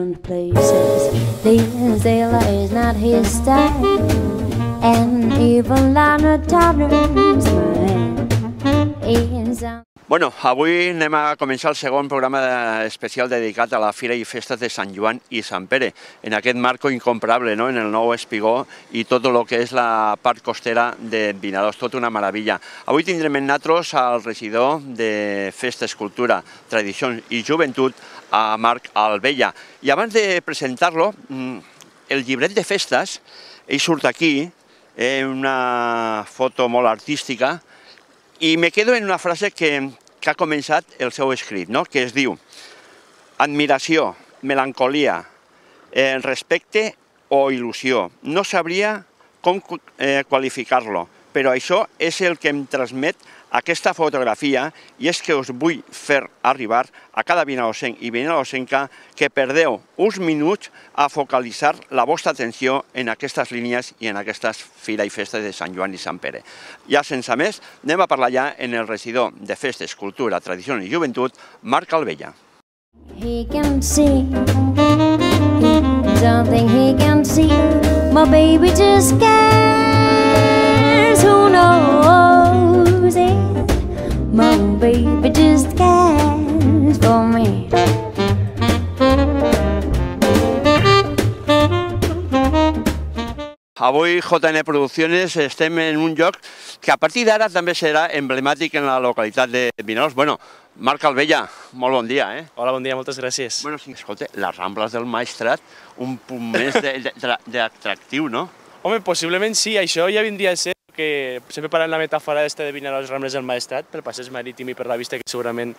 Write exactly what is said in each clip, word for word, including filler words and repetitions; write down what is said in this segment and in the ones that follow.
and places. This sailor is not his style, and even Lana Turner's man is on. Bueno, avui anem a començar el segon programa especial dedicat a la Fira i Festes de Sant Joan i Sant Pere, en aquest marco incomparable, no?, en el nou espigó i tot el que és la part costera de Vinaròs, tot una meravella. Avui tindrem en nosaltres al regidor de Festes, Cultura, Tradicions i Joventut, a Marc Albella. I abans de presentar-lo, el llibret de festes, ell surt aquí, una foto molt artística, i me quedo en una frase que, que ha començat el seu escrit, no?, que es diu: admiració, melancolia, eh, respecte o il·lusió. No sabria com eh, qualificar-lo, però això és el que em transmet aquesta fotografia, i és que us vull fer arribar a cada vinaròsenc i vinaròsenca que perdeu uns minuts a focalitzar la vostra atenció en aquestes línies i en aquestes Fira i Festes de Sant Joan i Sant Pere. Ja sense més, anem a parlar ja en el regidor de Festes, Cultura, Tradicions i Joventut, Marc Albella. He can see something he can see. My baby just cares. Who knows it? My baby just cares for me. Avui J N Producciones estem en un lloc que a partir d'ara també serà emblemàtic en la localitat de Vinaròs. Bueno, Marc Albella, molt bon dia, eh? Hola, bon dia, moltes gràcies. Bueno, sí, escolta, les Rambles del Maestrat, un punt més d'atractiu, no? Home, possiblement sí, això ja vindria a ser que sempre parlant la metàfora d'esta de Vinaròs, Rambles del Maestrat, pel passeig marítim i per la vista que segurament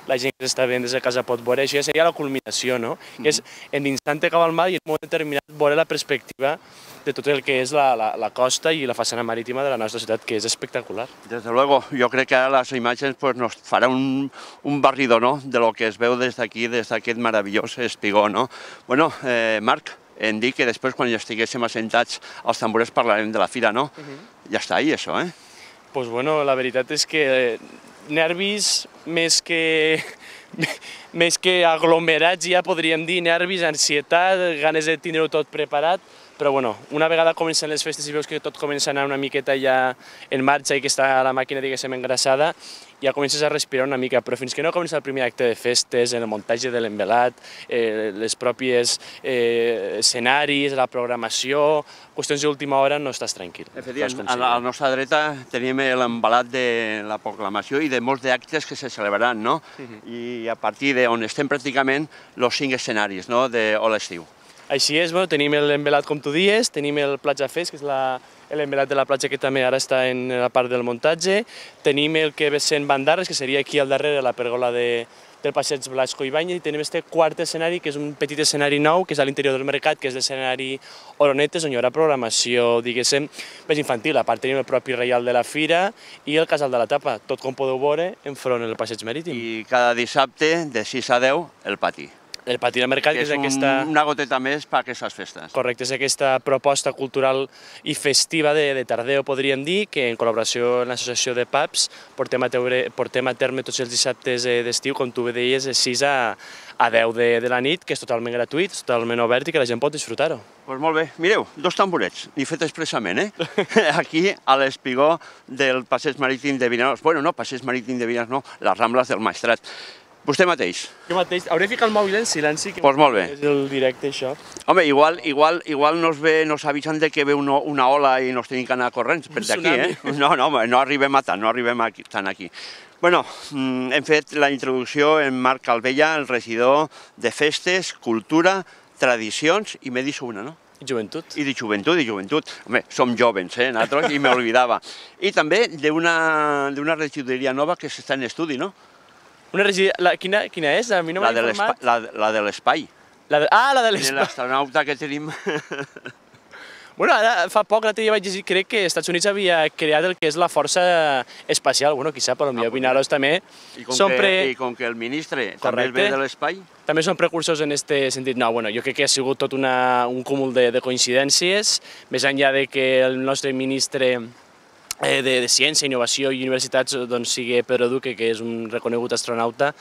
la gent que s'està veient des de casa pot veure, això ja seria la culminació, no? Que és endinsant cap al mar i en un moment determinat veure la perspectiva de tot el que és la, la, la costa i la façana marítima de la nostra ciutat, que és espectacular. Desde luego, jo crec que ara les imatges pues, nos farà un, un barrido, no?, de lo que es veu des d'aquí, des d'aquest meravellós espigó, no? Bueno, eh, Marc, em dic que després, quan ja estiguéssim assentats als tamborers, parlarem de la fira, no? Uh-huh. Ja està ahí, això, eh? Pues bueno, la veritat és que nervis més que... més que aglomerats, ja podríem dir, nervis, ansietat, ganes de tindre-ho tot preparat, però bueno, una vegada comencen les festes i veus que tot comença a anar una miqueta ja en marxa i que està la màquina, diguéssim, engrassada, ja comences a respirar una mica, però fins que no comença el primer acte de festes, el muntatge de l'envelat, eh, les pròpies eh, escenaris, la programació, qüestions d'última hora, no estàs tranquil. Efectivament, a la nostra dreta tenim l'embalat de la proclamació i de molts d'actes que se celebraran, no? Uh-huh. I a partir d'on estem pràcticament els cinc escenaris, no?, de l'estiu. Així és, bueno, tenim l'envelat, com tu dies, tenim el Platja Fest, que és l'envelat de la platja que també ara està en la part del muntatge, tenim el que ve sent Bandarres, que seria aquí al darrere, la pergola de, del passeig Blasco Ibáñez, i tenim este quart escenari, que és un petit escenari nou, que és a l'interior del mercat, que és l'escenari Oronetes, on hi haurà programació, diguéssim, més infantil. A part tenim el propi reial de la fira i el casal de la tapa, tot com podeu veure enfront del passeig marítim. I cada dissabte, de sis a deu, el pati. El pati del mercat, que és aquesta... una goteta més per aquestes festes. Correcte, és aquesta proposta cultural i festiva de, de Tardeo, podríem dir, que en col·laboració amb l'associació de pubs portem a, teure, portem a terme tots els dissabtes d'estiu, com tu bé deies, de sis a deu de, de la nit, que és totalment gratuït, totalment obert i que la gent pot disfrutar-ho. Doncs pues molt bé. Mireu, dos tamborets, ni fet expressament, eh? Aquí, a l'espigó del passeig marítim de Vinaròs. Bueno, no, passeig marítim de Vinaròs, no, les Rambles del Maestrat. Vostè mateix? Jo mateix. Hauré ficat el mòbil en silenci, que pues molt bé. És el directe, això. Home, igual, igual, igual nos, ve, nos avisen de que ve una, una ola i nos tenim que anar corrents per d'aquí, eh? No, no, no arribem a tant, no arribem a tant aquí. Bueno, hem fet la introducció en Marc Albella, el regidor de Festes, Cultura, Tradicions, i m'he dit una, no? I joventut. I de joventut, i joventut. Home, som jovens, eh, nosaltres, i m'oblidava. I també d'una regidoria nova que s'està en estudi, no? Una regidoria... Quina, quina és? A mi no m'ha informat. La de l'espai. Ah, la de l'espai. L'astronauta que tenim... Bueno, ara fa poc, l'altre dia vaig llegir, crec que els Estats Units havia creat el que és la força espacial. Bueno, qui sap, potser Vinaròs també... I com que el ministre també ve de l'espai... També són precursors en aquest sentit. No, bueno, jo crec que ha sigut tot un cúmul de coincidències, més enllà de que el nostre ministre de, de ciència, innovació i universitats doncs, sigui Pedro Duque, que és un reconegut astronauta.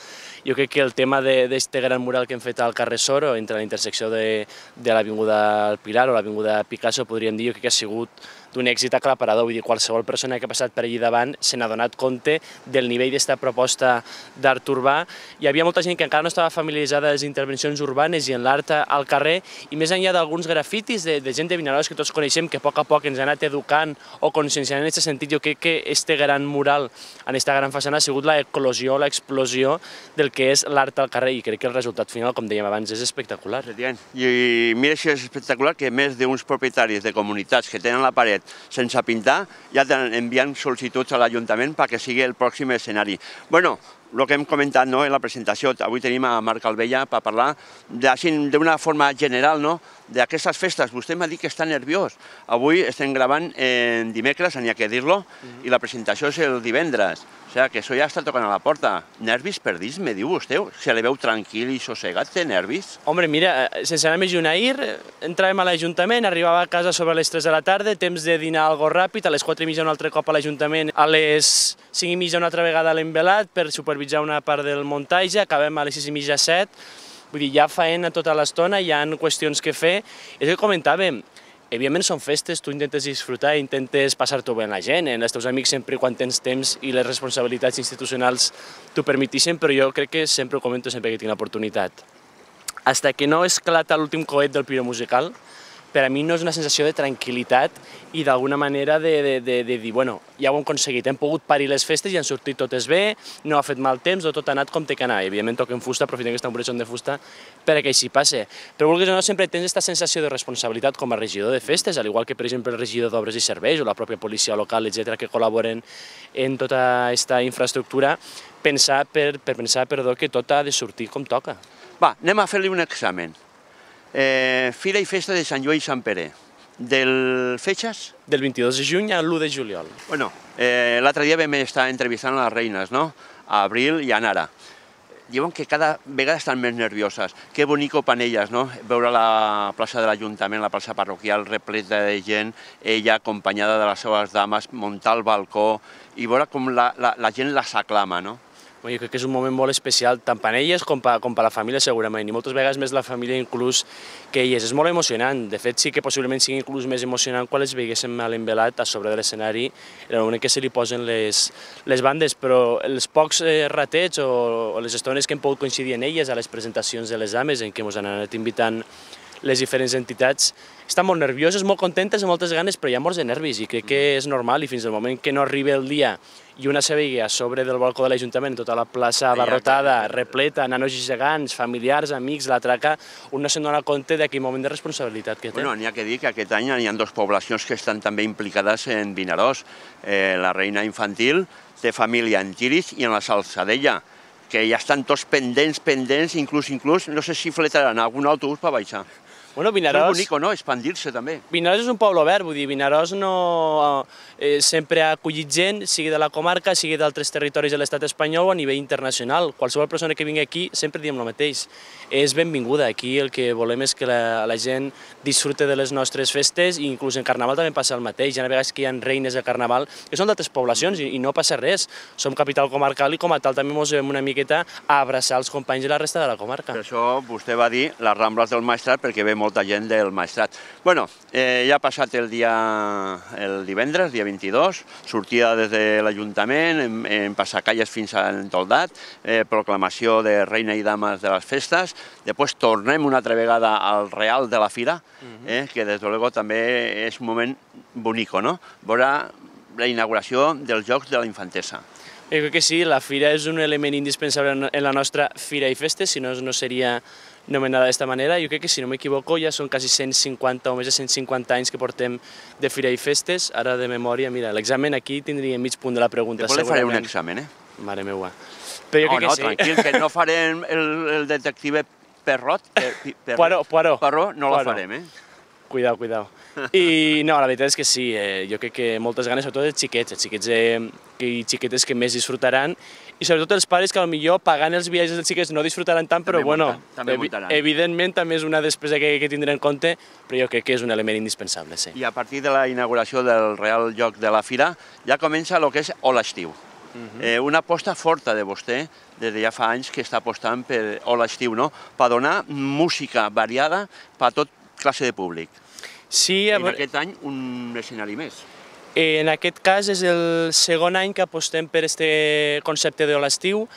Jo crec que el tema d'aquest gran mural que hem fet al carrer Soro, entre la intersecció de, de l'Avinguda Pilar o l'Avinguda Picasso, podríem dir, jo crec que ha sigut d'un èxit aclaparador. Vull dir, qualsevol persona que ha passat per allí davant se n'ha donat compte del nivell d'esta proposta d'art urbà. Hi havia molta gent que encara no estava familiaritzada amb les intervencions urbanes i en l'art al carrer, i més enllà d'alguns grafitis de, de gent de Vinaròs que tots coneixem, que a poc a poc ens ha anat educant o conscienciant en aquest sentit, jo crec que este gran mural en aquesta gran façana ha sigut l'eclosió, l'explosió del que és l'art al carrer, i crec que el resultat final, com dèiem abans, és espectacular. I mira si és espectacular que més d'uns propietaris de comunitats que tenen la paret sense pintar ja envien sol·licituds a l'Ajuntament perquè sigui el pròxim escenari. Bueno, el que hem comentat en la presentació, avui tenim a Marc Albella per parlar d'una forma general d'aquestes festes. Vostè m'ha dit que està nerviós. Avui estem gravant en dimecres, n'hi ha que dir-lo, i la presentació és el divendres. O sigui que això ja està tocant a la porta. Nervis perdits, me diu vostè? Se le veu tranquil i sossegat, té nervis? Home, mira, sense anar més lluny, ahir entràvem a l'Ajuntament, arribava a casa sobre les tres de la tarda, temps de dinar algo ràpid, a les quatre i mitja un altre cop a l'Ajuntament, a les cinc i mitja una altra vegada a l'Envelat per supervisar una part del muntatge, acabem a les sis i mitja set, vull dir, hi ha faena tota l'estona, hi ha qüestions que fer. És que comentàvem, evidentment són festes, tu intentes disfrutar, intentes passar-t'ho bé amb la gent, amb els teus amics sempre quan tens temps i les responsabilitats institucionals t'ho permetixen, però jo crec que sempre ho comento sempre que tinc l'oportunitat. Hasta que no esclata l'últim coet del piró musical, per a mi no és una sensació de tranquil·litat i d'alguna manera de dir, bueno, ja ho hem aconseguit, hem pogut parir les festes i han sortit totes bé, no ha fet mal temps, tot ha anat com té que anar. Evidentment toquem fusta, aprofitem que està un breixon de fusta perquè així passe. Però vulguis o no, sempre tens aquesta sensació de responsabilitat com a regidor de festes, al igual que per exemple el regidor d'Obres i Serveis o la pròpia policia local, etcètera, que col·laboren en tota aquesta infraestructura, pensar per pensar que tot ha de sortir com toca. Va, anem a fer-li un examen. Fira i Festa de Sant Joan i Sant Pere. Del fetges? Del vint-i-dos de juny al l'u de juliol. Bueno, l'altre dia vam estar entrevistant les reines, no? A Abril i a Nara. Diuen que cada vegada estan més nervioses. Que bonico per elles, no? Veure la plaça de l'Ajuntament, la plaça parroquial repleta de gent, ella acompanyada de les seves dames, muntar al balcó i veure com la gent les aclama, no? Jo crec que és un moment molt especial, tant per elles com per la família segurament, i moltes vegades més la família inclús que elles. És molt emocionant, de fet sí que possiblement sigui inclús més emocionant quan les veiguéssim a l'Envelat a sobre de l'escenari, en el moment que se li posen les bandes, però els pocs ratets o les estones que hem pogut coincidir en elles a les presentacions de les dames en què ens han anat invitant les diferents entitats, estan molt nervioses, molt contentes, amb moltes ganes, però hi ha molts de nervis i crec que és normal, i fins al moment que no arribi el dia i una se vegi a sobre del balcó de l'Ajuntament, tota la plaça abarrotada, repleta, nanos gegants, familiars, amics, la traca, un no se'n dona compte d'aquell moment de responsabilitat que té. Bueno, n'hi ha que dir que aquest any hi ha dues poblacions que estan també implicades en Vinaròs. La Reina Infantil té família en Tiris i en la Salzadella, que ja estan tots pendents, pendents, inclús, inclús, no sé si fletaran algun autobús per baixar. Bueno, Vinaròs... És bonic, no?, expandir-se també. Vinaròs és un poble obert, vull dir, Vinaròs no... sempre ha acollit gent, sigui de la comarca, sigui d'altres territoris de l'estat espanyol o a nivell internacional. Qualsevol persona que vingui aquí, sempre diem el mateix, és benvinguda. Aquí el que volem és que la gent disfrute de les nostres festes, i inclús en Carnaval també passa el mateix. Hi ha vegades que hi ha reines de Carnaval que són d'altres poblacions i no passa res. Som capital comarcal i com a tal també ens vam una miqueta a abraçar els companys de la resta de la comarca. Per això vostè va dir les Rambles del Maestrat, perquè ve molta gent del Maestrat. Bueno, ja ha passat el dia el divendres, dia vint-i-dos, sortida des de l'Ajuntament, en passacalles fins al Toldat, proclamació de reina i dames de les festes, després tornem una altra vegada al Real de la Fira, que des de luego també és un moment bonic, no? Veure la inauguració dels Jocs de la Infantesa. Jo crec que sí, la fira és un element indispensable en la nostra Fira i Festes, si no, no seria nomenada d'aquesta manera. Jo crec que, si no m'equivoco, ja són quasi cent cinquanta o més de cent cinquanta anys que portem de Fira i Festes. Ara, de memòria, mira, l'examen aquí tindria mig punt de la pregunta. Després li faré un examen, eh? Mare meua. Però jo crec que sí. No, tranquil, que no farem el detective Perrot. Poirot, Poirot. Poirot no la farem, eh? Cuidao, cuidao. I no, la veritat és que sí, eh, jo crec que moltes ganes, sobretot els xiquets, els xiquets eh, i xiquetes que més disfrutaran, i sobretot els pares que potser pagant els viatges dels xiquets no disfrutaran tant, però També bueno, munta- també evi muntaran. evidentment també és una despesa que hay que tindre en compte, però jo crec que és un element indispensable, sí. I a partir de la inauguració del Real Joc de la Fira ja comença el que és Hola Estiu. eh, una aposta forta de vostè, des de ja fa anys que està apostant per Hola Estiu, no? Per donar música variada per a tot classe de públic. Sí, I a en veure, aquest any un escenari més. en aquest cas és el segon any que apostem per este concepte de l'estiu.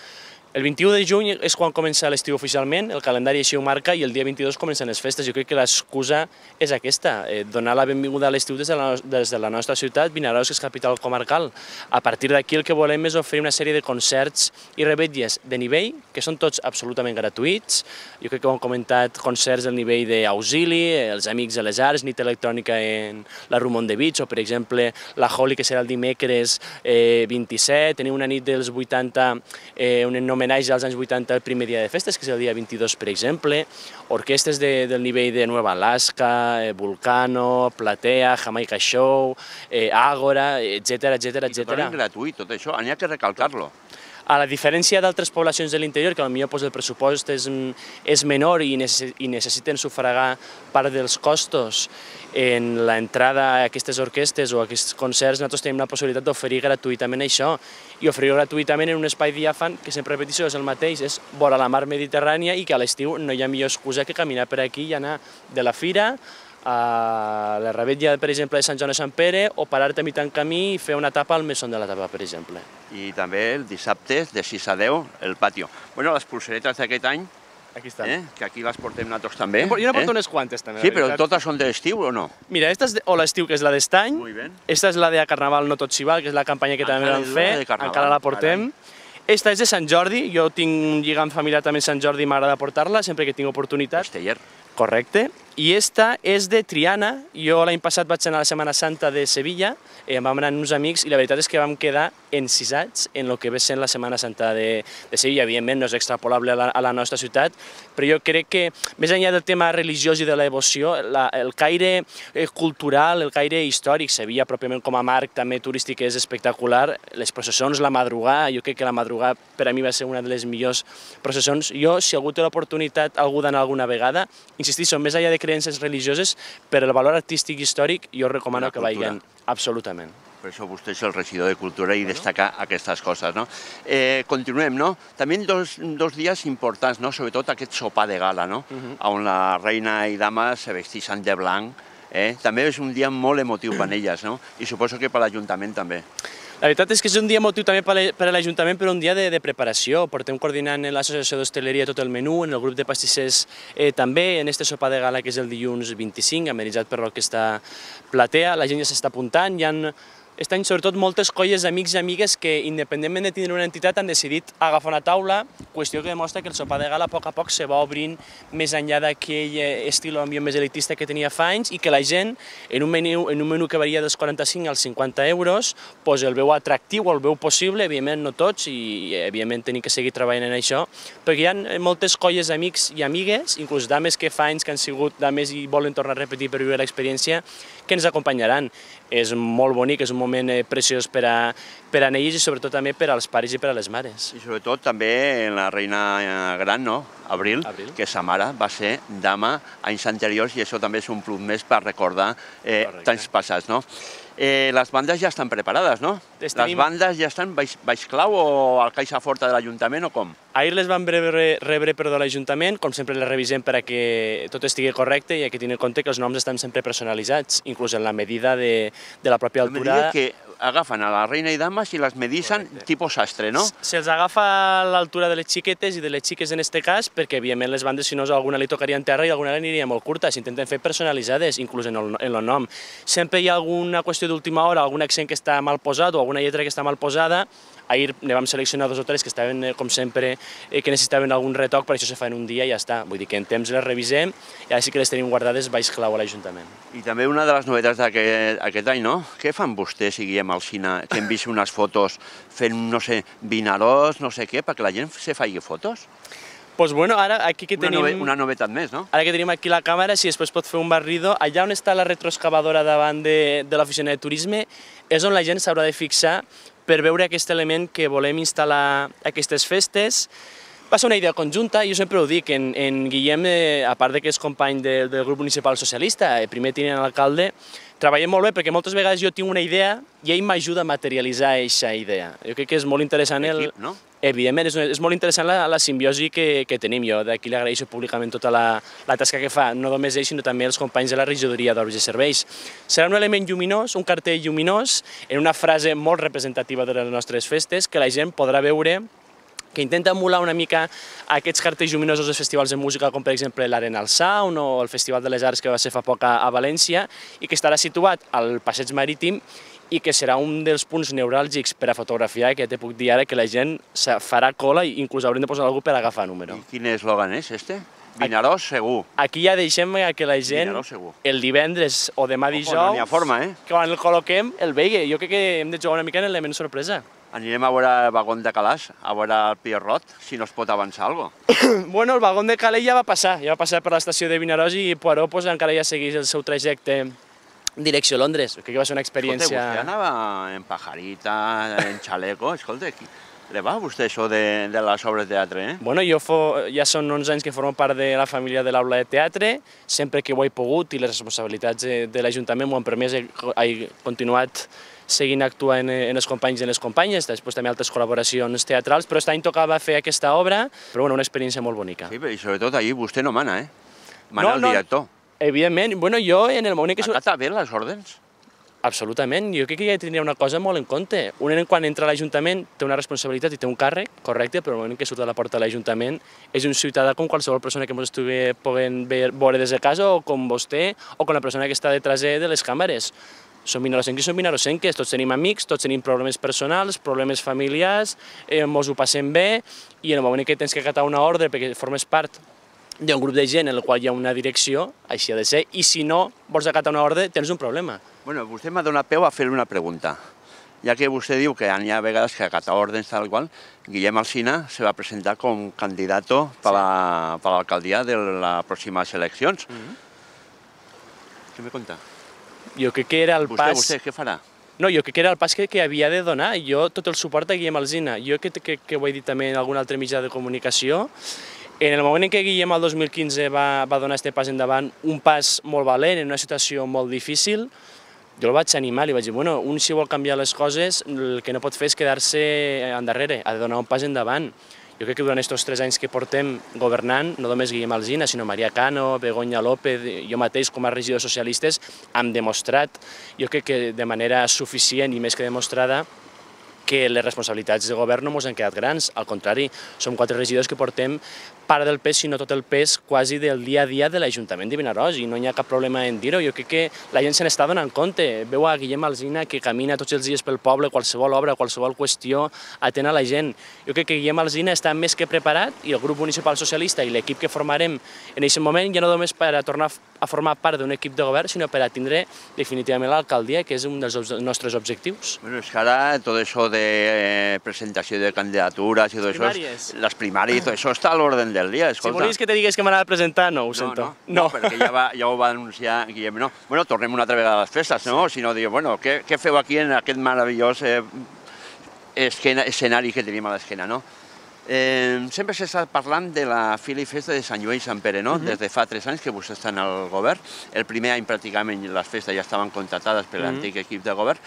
El vint-i-u de juny és quan comença l'estiu oficialment, el calendari així ho marca, i el dia vint-i-dos comencen les festes. Jo crec que l'excusa és aquesta, eh, donar la benvinguda a l'estiu des, de la, des de la nostra ciutat, Vinaròs, que és capital comarcal. A partir d'aquí el que volem és oferir una sèrie de concerts i revetlles de nivell, que són tots absolutament gratuïts. Jo crec que ho hem comentat, concerts del nivell d'Auxili, els Amics de les Arts, nit electrònica en la Rumont de Beach, o per exemple la Holi, que serà el dimecres eh, vint-i-set, tenim una nit dels vuitanta, eh, un homenatge als anys vuitanta el primer dia de festes, que és el dia vint-i-dos, per exemple, orquestres de, del nivell de Nueva Alaska, eh, Vulcano, Platea, Jamaica Show, eh, Ágora, etcètera, etcètera, I etcètera. totalment gratuït, tot això, n'hi ha que recalcar-lo. A la diferència d'altres poblacions de l'interior, que potser pues, el pressupost és, és menor i, necess i necessiten sufragar part dels costos en l'entrada a aquestes orquestes o a aquests concerts, nosaltres tenim la possibilitat d'oferir gratuïtament això, i oferir gratuïtament en un espai diàfan que, sempre repeteixo, és el mateix, és vora la mar Mediterrània, i que a l'estiu no hi ha millor excusa que caminar per aquí i anar de la fira a la revetlla, per exemple, de Sant Joan de Sant Pere, o parar-te a mitjan camí i fer una tapa al Mesón de la Tapa, per exemple. I també el dissabte, de sis a deu, el patio. Bueno, les pulseretes d'aquest any, Aquí estan. eh, que aquí les portem nosaltres també. Jo n'he portat eh? unes quantes, també. Sí, la però veritat. totes són d'estiu o no? Mira, esta és de, o l'estiu, que és la d'estany. Muy bien. Esta és la de Carnaval no tot s'hi val, que és la campanya que també Encara vam és fer. la de Carnaval, Encara la portem. Esta és de Sant Jordi. Jo tinc un lligam familiar també a Sant Jordi i m'agrada portar-la sempre que tinc oportunitat. Casteller. Correcte. I esta és de Triana. Jo l'any passat vaig anar a la Setmana Santa de Sevilla, eh, vam anar amb uns amics i la veritat és que vam quedar encisats en el que ve sent la Setmana Santa de, de Sevilla. Evidentment no és extrapolable a la, a la nostra ciutat, però jo crec que més enllà del tema religiós i de la devoció, la, el caire eh, cultural, el caire històric, Sevilla pròpiament com a marc també turístic és espectacular. Les processons, la madrugada, jo crec que la madrugada per a mi va ser una de les millors processons. Jo, si algú té l'oportunitat, algú d'anar alguna vegada, insistixo, més enllà de creences religioses, per el valor artístic i històric, jo recomano La que cultura. vagin. Absolutament. Per això vostè és el regidor de Cultura i destaca aquestes coses, no? Eh, continuem, no? També dos, dos dies importants, no? Sobretot aquest sopar de gala, no? On la reina i dama se vestixen de blanc. Eh? També és un dia molt emotiu per elles, no? I suposo que per l'Ajuntament també. La veritat és que és un dia emotiu també per a l'Ajuntament, però un dia de, de preparació. Portem coordinant en l'Associació d'Hostaleria tot el menú, en el grup de pastissers eh, també, en este sopar de gala que és el dilluns vint-i-cinc, amenitzat per l'Orquestra Platea. La gent ja s'està apuntant, hi ha aquest any sobretot moltes colles d'amics i amigues que, independentment de tindre una entitat, han decidit agafar una taula, qüestió que demostra que el sopar de gala a poc a poc se va obrint més enllà d'aquell estil ambient més elitista que tenia fa anys, i que la gent, en un menú, en un menú que varia dels quaranta-cinc als cinquanta euros, pues el veu atractiu, el veu possible, evidentment no tots, i evidentment tenim que seguir treballant en això, perquè hi ha moltes colles d'amics i amigues, inclús dames que fa anys que han sigut dames i volen tornar a repetir per viure l'experiència, que ens acompanyaran. És molt bonic, és un moment preciós per a, per a ells i sobretot també per als pares i per a les mares. I sobretot també en la reina gran, no? Abril, Abril. que sa mare va ser dama anys anteriors, i això també és un plus més per recordar eh, temps passats, no? Eh, les bandes ja estan preparades, no? Les Tenim... bandes ja estan baix, baix clau o al caixa forta de l'Ajuntament o com? Ahir les vam rebre, rebre perdó, a l'Ajuntament, com sempre les revisem per a que tot estigui correcte i que tenir en compte que els noms estan sempre personalitzats, inclús en la medida de, de la pròpia altura. A medida que agafen a la reina i dames i les medixen tipus sastre, no? Se'ls agafa a l'altura de les xiquetes i de les xiques en este cas, perquè evidentment les bandes, si no, alguna li tocaria en terra i alguna aniria molt curta. S'intenten fer personalitzades, inclús en el, en el nom. Sempre hi ha alguna qüestió d'última hora, algun accent que està mal posat o alguna lletra que està mal posada. Ahir ne vam seleccionar dos o tres que estaven, com sempre, que necessitaven algun retoc, per això se fa en un dia i ja està. Vull dir que en temps les revisem i ara sí que les tenim guardades baix clau a l'Ajuntament. I també una de les novetats d'aquest any, no? Què fan vostès, si guiem al cine, que hem vist unes fotos fent, no sé, Vinaròs, no sé què, perquè la gent se faci fotos? Doncs bueno, ara aquí que Una, tenim... nove, una novetat més, no? Ara que tenim aquí la càmera, si després pot fer un barrido, allà on està la retroexcavadora davant de, de l'oficina de turisme és on la gent s'haurà de fixar per veure aquest element que volem instal·lar a aquestes festes. Va ser una idea conjunta, jo sempre ho dic, en, en Guillem, eh, a part que és company de, del grup municipal socialista, eh, primer tinent alcalde, treballem molt bé perquè moltes vegades jo tinc una idea i ell m'ajuda a materialitzar aquesta idea. Jo crec que és molt interessant el... Equip, no? Evidentment, és, és molt interessant la, la simbiosi que, que tenim. Jo d'aquí li agraeixo públicament tota la, la tasca que fa, no només ell, sinó també els companys de la regidoria d'Obres i Serveis. Serà un element lluminós, un cartell lluminós, en una frase molt representativa de les nostres festes, que la gent podrà veure, que intenta emular una mica aquests cartells lluminosos dels festivals de música, com per exemple l'Arena al Sound o el Festival de les Arts que va ser fa poc a, a València, i que estarà situat al Passeig Marítim i que serà un dels punts neuràlgics per a fotografiar, que ja te puc dir ara que la gent farà cola i inclús haurem de posar algú per agafar número. I quin eslògan és este? Vinaròs segur. Aquí ja deixem que la gent, el divendres o demà dijous, no n'hi ha forma, eh? que quan el col·loquem, el vegi. Jo crec que hem de jugar una mica en l'element sorpresa. Anirem a veure el vagón de Calàs, a veure el Pierrot, si no es pot avançar alguna cosa. Bueno, el vagón de Calais ja va passar, ja va passar per l'estació de Vinaròs i Poirot pues, encara ja segueix el seu trajecte direcció a Londres. Crec que va ser una experiència... Escolta, vostè anava en pajarita, en xaleco, escolta, le va a vostè això de, de les obres de teatre, eh? Bueno, jo fo, ja són onze anys que formo part de la família de l'aula de teatre, sempre que ho he pogut i les responsabilitats de, de l'Ajuntament m'ho han permès, he, he continuat seguint actuant en els companys i en les companyes, després també altres col·laboracions teatrals, però aquest any tocava fer aquesta obra, però bueno, una experiència molt bonica. Sí, i sobretot allí vostè no mana, eh? Mana no, el director. No, evidentment, bueno, jo en el moment que... Acata bé les ordens? Absolutament, jo crec que ja tindria una cosa molt en compte. Un nen quan entra a l'Ajuntament té una responsabilitat i té un càrrec, correcte, però el moment que surt de la porta de l'Ajuntament és un ciutadà com qualsevol persona que ens estigui podent veure des de casa o com vostè o com la persona que està detrás de les càmeres. Som vinarosenques i som vinarosenques, tots tenim amics, tots tenim problemes personals, problemes familiars, eh, ens ho passem bé i en el moment que tens que acatar una ordre perquè formes part d'un grup de gent en el qual hi ha una direcció, així ha de ser, i si no vols acatar una ordre tens un problema. Bueno, vostè m'ha donat peu a fer una pregunta. Ja que vostè diu que hi ha vegades que acata ordres tal qual, Guillem Alsina se va presentar com candidat per l'alcaldia de les pròximes eleccions. Què me conta? Jo crec que era el pas... Vostè, vostè, què farà? No, jo crec que era el pas que, que havia de donar. Jo tot el suport a Guillem Alsina. Jo que, que, que ho he dit també en algun altre mitjà de comunicació. En el moment en què Guillem el dos mil quinze va, va donar aquest pas endavant, un pas molt valent, en una situació molt difícil, jo el vaig animar, li vaig dir, bueno, un si vol canviar les coses, el que no pot fer és quedar-se endarrere, ha de donar un pas endavant. Jo crec que durant aquests tres anys que portem governant, no només Guillem Alsina, sinó Maria Cano, Begoña López, jo mateix com a regidors socialistes, hem demostrat, jo crec que de manera suficient i més que demostrada, que les responsabilitats de govern no ens han quedat grans, al contrari, som quatre regidors que portem part del pes, sinó tot el pes quasi del dia a dia de l'Ajuntament de Vinaròs i no hi ha cap problema en dir-ho. Jo crec que la gent se n'està donant compte. Veu a Guillem Alsina que camina tots els dies pel poble, qualsevol obra, qualsevol qüestió, atén a la gent. Jo crec que Guillem Alsina està més que preparat i el grup municipal socialista i l'equip que formarem en aquest moment ja no només per a tornar a formar part d'un equip de govern, sinó per a tindre definitivament l'alcaldia, que és un dels nostres objectius. Bueno, és que ara tot això de presentació de candidatures i tot això, les primàries, tot això està a l'ordre del dia, escolta. Si volies que te digués que m'anava a presentar, no, ho sento. No, no, no, perquè ja, va, ja ho va anunciar Guillem. No. Bueno, tornem una altra vegada a les festes, no? Si no, diu, bueno, què, què feu aquí en aquest meravellós eh, esquena, escenari que tenim a l'esquena, no? Eh, sempre s'ha estat parlant de la Fira i Festa de Sant Joan i Sant Pere, no? Uh-huh. Des de fa tres anys que vostès estan al govern. El primer any pràcticament les festes ja estaven contractades per l'antic uh-huh. equip de govern.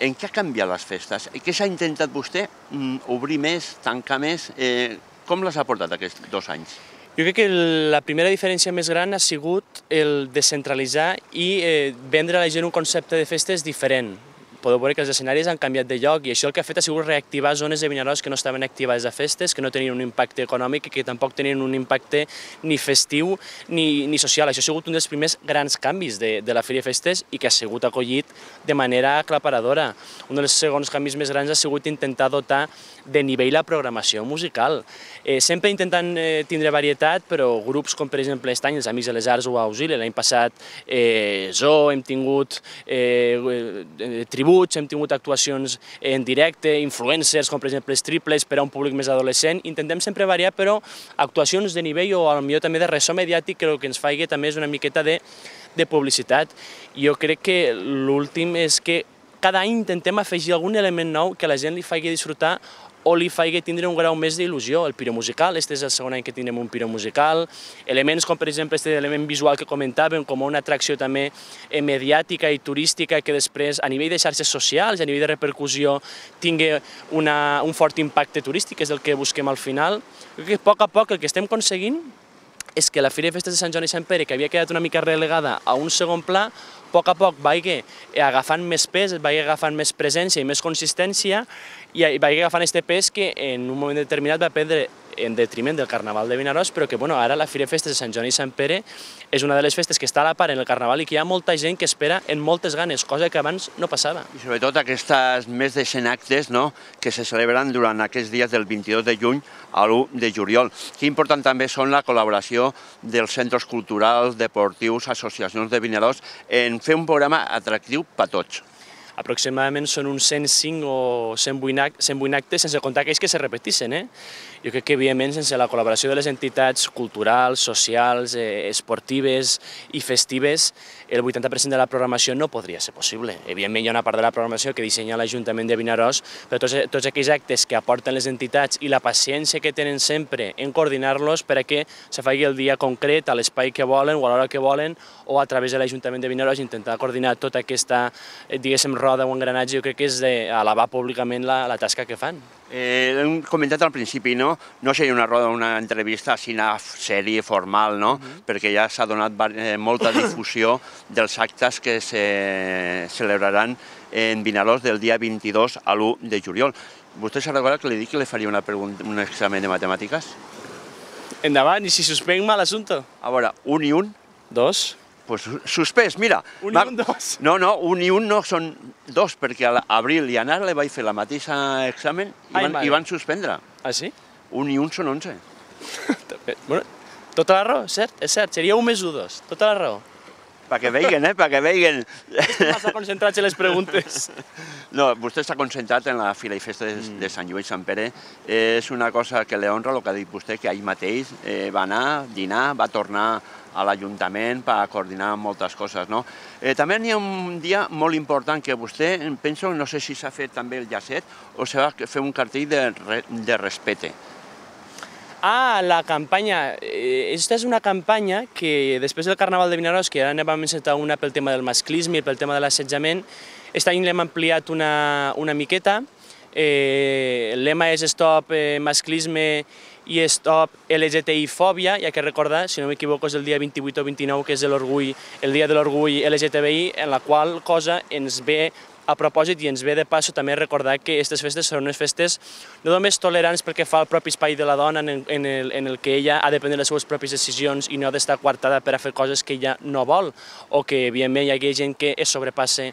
En què ha canviat les festes? Què s'ha intentat vostè? Mm, obrir més, tancar més? Eh, com les ha portat aquests dos anys? Jo crec que la primera diferència més gran ha sigut el descentralitzar i eh, vendre a la gent un concepte de festes diferent. Podeu veure que els escenaris han canviat de lloc i això el que ha fet ha sigut reactivar zones de Vinaròs que no estaven activades a festes, que no tenien un impacte econòmic i que tampoc tenien un impacte ni festiu ni, ni social. Això ha sigut un dels primers grans canvis de, de la Fira de Festes i que ha sigut acollit de manera aclaparadora. Un dels segons canvis més grans ha sigut intentar dotar de nivell la programació musical. Eh, sempre intentant eh, tindre varietat, però grups com per exemple aquest any els Amics de les Arts o Auxili, l'any passat eh, Zoo, hem tingut eh, eh, Tribut, continguts, hem tingut actuacions en directe, influencers, com per exemple els triples per a un públic més adolescent. Intentem sempre variar, però actuacions de nivell o potser també de ressò mediàtic que el que ens faci també és una miqueta de, de publicitat. Jo crec que l'últim és que cada any intentem afegir algun element nou que la gent li faci disfrutar o li faci tindre un grau més d'il·lusió. El piromusical, este és el segon any que tindrem un piromusical, elements com per exemple este element visual que comentàvem, com una atracció també mediàtica i turística que després a nivell de xarxes socials, a nivell de repercussió, tingui una, un fort impacte turístic, que és el que busquem al final. Crec que a poc a poc el que estem aconseguint és que la Fira de Festes de Sant Joan i Sant Pere, que havia quedat una mica relegada a un segon pla, a poc a poc vagi agafant més pes, vagi agafant més presència i més consistència i vagi agafant aquest pes que en un moment determinat va prendre en detriment del Carnaval de Vinaròs, però que bueno, ara la Fira de Festes de Sant Joan i Sant Pere és una de les festes que està a la part en el Carnaval i que hi ha molta gent que espera en moltes ganes, cosa que abans no passava. I sobretot aquestes més de cent actes, no?, que se celebren durant aquests dies del vint-i-dos de juny a l'u de juliol. Que important també són la col·laboració dels centres culturals, deportius, associacions de Vinaròs en fer un programa atractiu per a tots. Aproximadament són uns cent cinc o cent vuit actes, sense comptar aquells que se repetissin. Eh? Jo crec que, evidentment, sense la col·laboració de les entitats culturals, socials, eh, esportives i festives, el vuitanta per cent de la programació no podria ser possible. Evidentment, hi ha una part de la programació que dissenya l'Ajuntament de Vinaròs, però tots, tots aquells actes que aporten les entitats i la paciència que tenen sempre en coordinar-los per a que se faci el dia concret, a l'espai que volen o a l'hora que volen, o a través de l'Ajuntament de Vinaròs intentar coordinar tota aquesta, diguéssim, roda o engranatge, jo crec que és d'alabar públicament la, la tasca que fan. Eh, hem comentat al principi, no? No seria una roda, una entrevista així, una sèrie formal, no? Uh-huh. Perquè ja s'ha donat eh, molta difusió dels actes que se celebraran en Vinaròs del dia vint-i-dos a l'u de juliol. Vostè s'ha recordat que li dic que li faria una pregunta, un examen de matemàtiques? Endavant, i si suspèn mal assumpte? A veure, un i un? Dos. Pues suspès, mira. Un i un, dos. No, no, un i un no, són dos, perquè a l'Abril i a Nara li vaig fer la mateixa examen i van, i van suspendre. Ah, sí? Un i un són onze. Bueno, tota la raó, cert, és cert, seria un més un, dos, tota la raó. Perquè veiguen, eh, perquè veiguen. Massa concentrats en les preguntes. No, vostè està concentrat en la Fira i Festa de, de Sant Joan i Sant Pere. És una cosa que li honra, el que ha dit vostè, que ahir mateix eh, va anar, dinar, va tornar a l'Ajuntament per coordinar moltes coses, no? Eh, també hi ha un dia molt important que vostè, penso, no sé si s'ha fet també el llacet o s'ha de fer un cartell de, de respecte. Ah, la campanya. Aquesta és una campanya que després del Carnaval de Vinaròs, que ara ne vam encetar una pel tema del masclisme i pel tema de l'assetjament, aquest any l'hem ampliat una, una miqueta. Eh, el lema és Stop eh, Masclisme i Stop L G T I-fòbia, ja que recordar, si no m'equivoco, és el dia vint-i-vuit o vint-i-nou, que és l'orgull, el dia de l'orgull L G T B I, en la qual cosa ens ve a propòsit i ens ve de passo també recordar que aquestes festes són unes festes no només tolerants perquè fa el propi espai de la dona en el, en el, en el que ella ha de prendre les seves pròpies decisions i no ha d'estar coartada per a fer coses que ella no vol, o que evidentment hi ha gent que es sobrepassa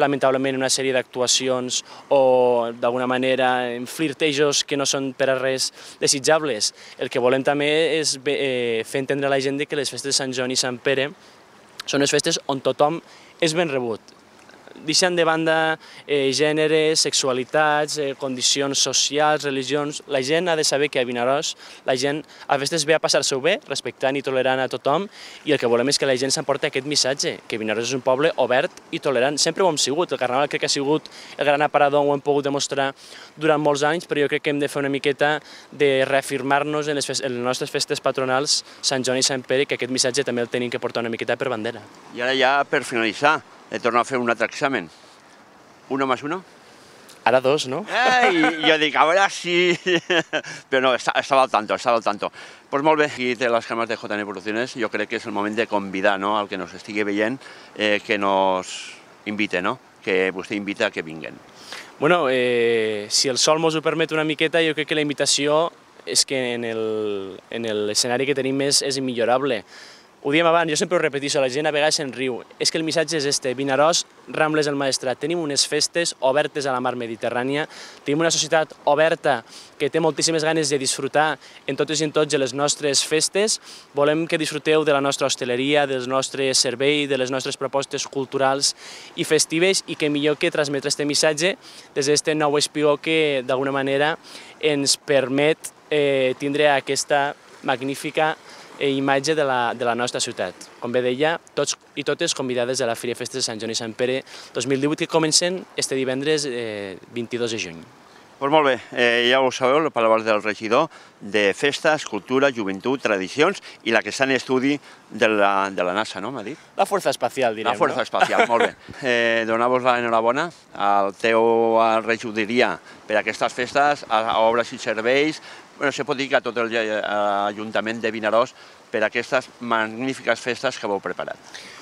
lamentablement una sèrie d'actuacions o d'alguna manera en flirtejos que no són per a res desitjables. El que volem també és eh, fer entendre a la gent que les festes de Sant Joan i Sant Pere són unes festes on tothom és ben rebut. Deixant de banda eh, gèneres, sexualitats, eh, condicions socials, religions. La gent ha de saber que a Vinaròs la gent a festes ve a passar-se-ho bé, respectant i tolerant a tothom, i el que volem és que la gent s'emporti aquest missatge, que Vinaròs és un poble obert i tolerant. Sempre ho hem sigut, el Carnaval crec que ha sigut el gran aparador, ho hem pogut demostrar durant molts anys, però jo crec que hem de fer una miqueta de reafirmar-nos en les, en les nostres festes patronals, Sant Joan i Sant Pere, que aquest missatge també el tenim que portar una miqueta per bandera. I ara ja, per finalitzar, he tornat a fer un altre examen. Uno más uno? Ara dos, no? Ei, jo dic, a veure si... Però no, estava al tanto, estava al tanto. Doncs molt bé, aquí té les càmeres de J N Producciones. Jo crec que és el moment de convidar, no?, al que nos estigui veient, eh, que nos invite, no?, que vostè invita a que vinguen. Bueno, eh, si el sol mos ho permet una miqueta, jo crec que la invitació és que en l'escenari que tenim és, és immillorable. ho diem abans, jo sempre ho repeteixo, la gent a vegades se'n riu. És que el missatge és este, Vinaròs, Rambles del Maestrat. Tenim unes festes obertes a la mar Mediterrània, tenim una societat oberta que té moltíssimes ganes de disfrutar en totes i en tots de les nostres festes. Volem que disfruteu de la nostra hostaleria, del nostre servei, de les nostres propostes culturals i festives, i que millor que transmetre este missatge des d'aquest nou espigó que d'alguna manera ens permet eh, tindre aquesta magnífica imatge de la, de la nostra ciutat. Com bé deia, tots i totes convidades a la Fira i Festes de Sant Joan i Sant Pere dos mil divuit, que comencen este divendres eh, vint-i-dos de juny. Pues molt bé, eh, ja ho sabeu, les paraules del regidor de Festes, Cultura, Joventut, Tradicions i la que està en estudi de la, de la NASA, no m'ha dit? La Força Espacial, direm, La Força no? Espacial, molt bé. Eh, Donar-vos l'enhorabona al teu regidoria per aquestes festes, a, a obres i serveis. Bueno, se pot dir que a tot l'Ajuntament de Vinaròs per aquestes magnífiques festes que heu preparat.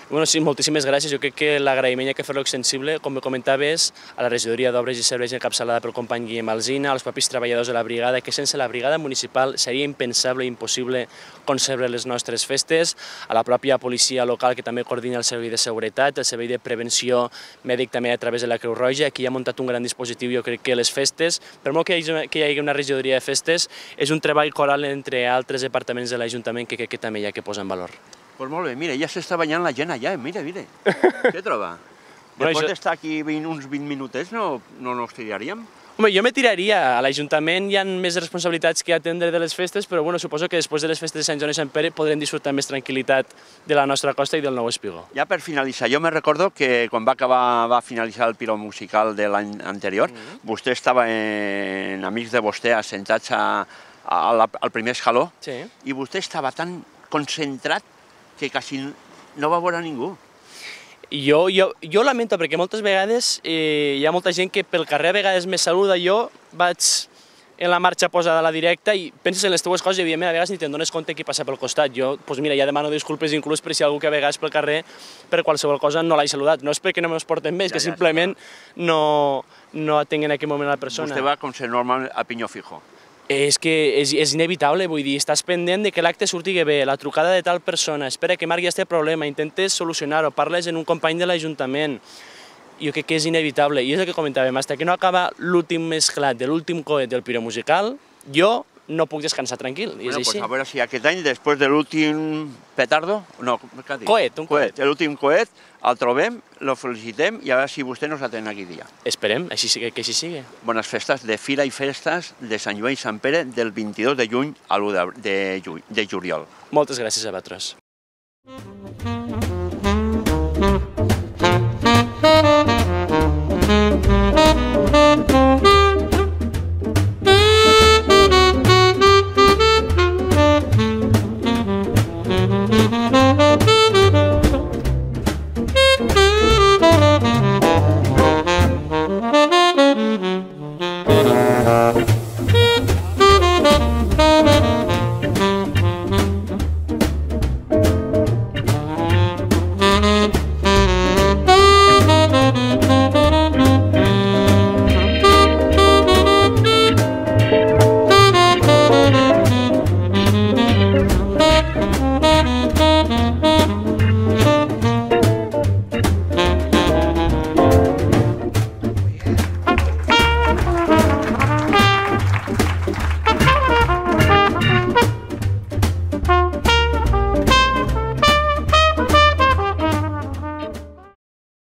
Bueno, sí, moltíssimes gràcies. Jo crec que l'agraïment hi ha que fer-lo extensible, com comentaves, a la regidoria d'Obres i Serveis encapçalada pel company Guillem Alsina, als propis treballadors de la brigada, que sense la brigada municipal seria impensable i impossible concebre les nostres festes, a la pròpia policia local que també coordina el servei de seguretat, el servei de prevenció mèdic també a través de la Creu Roja. Aquí ha muntat un gran dispositiu. Jo crec que les festes, per molt que hi hagi, que hi hagi una regidoria de festes, és un treball coral entre altres departaments de l'Ajuntament que crec que també hi ha que posar en valor. Doncs molt bé, mira, ja s'està banyant la gent allà, mira, mira. Què troba? Després d'estar aquí uns vint minutets no nos tiraríem? Home, jo me tiraria. A l'Ajuntament hi ha més responsabilitats que atendre de les festes, però bueno, suposo que després de les festes de Sant Joan i Sant Pere podrem disfrutar més tranquil·litat de la nostra costa i del nou espigó. Ja per finalitzar, jo me recordo que quan va acabar, va finalitzar el Piro musical de l'any anterior, mm-hmm. vostè estava en amics de vostè assentats a, a la, al primer escaló, sí. I vostè estava tan concentrat que quasi no va veure ningú. Jo, jo, jo lamento, perquè moltes vegades eh, hi ha molta gent que pel carrer a vegades me saluda. Jo vaig en la marxa posada a la directa i penses en les teues coses i evidentment a vegades ni te'n dones compte qui passa pel costat. Jo, doncs mira, ja demano disculpes inclús per si algú que a vegades pel carrer per qualsevol cosa no l'he saludat. No és perquè no me'ls porten bé, és que simplement no, no atenguin en aquell moment la persona. Vostè va com ser normal a pinyó fijo. És que és, és inevitable, vull dir, estàs pendent de que l'acte surti bé, la trucada de tal persona, espera que marqui aquest problema, intentes solucionar-ho, parles en un company de l'Ajuntament. Jo crec que és inevitable, i és el que comentàvem, fins que no acaba l'últim esclat de l'últim coet del Piro musical, jo no puc descansar tranquil, i és bueno, així. Pues a veure si aquest any, després de l'últim petardo, no, què dic? Coet, un coet. L'últim coet, el trobem, el felicitem i a veure si vostè nos atén aquell dia. Esperem, així sigui, que així sigui. Bones festes de Fira i Festes de Sant Joan i Sant Pere del vint-i-dos de juny a l'u de juliol. Moltes gràcies a vosaltres.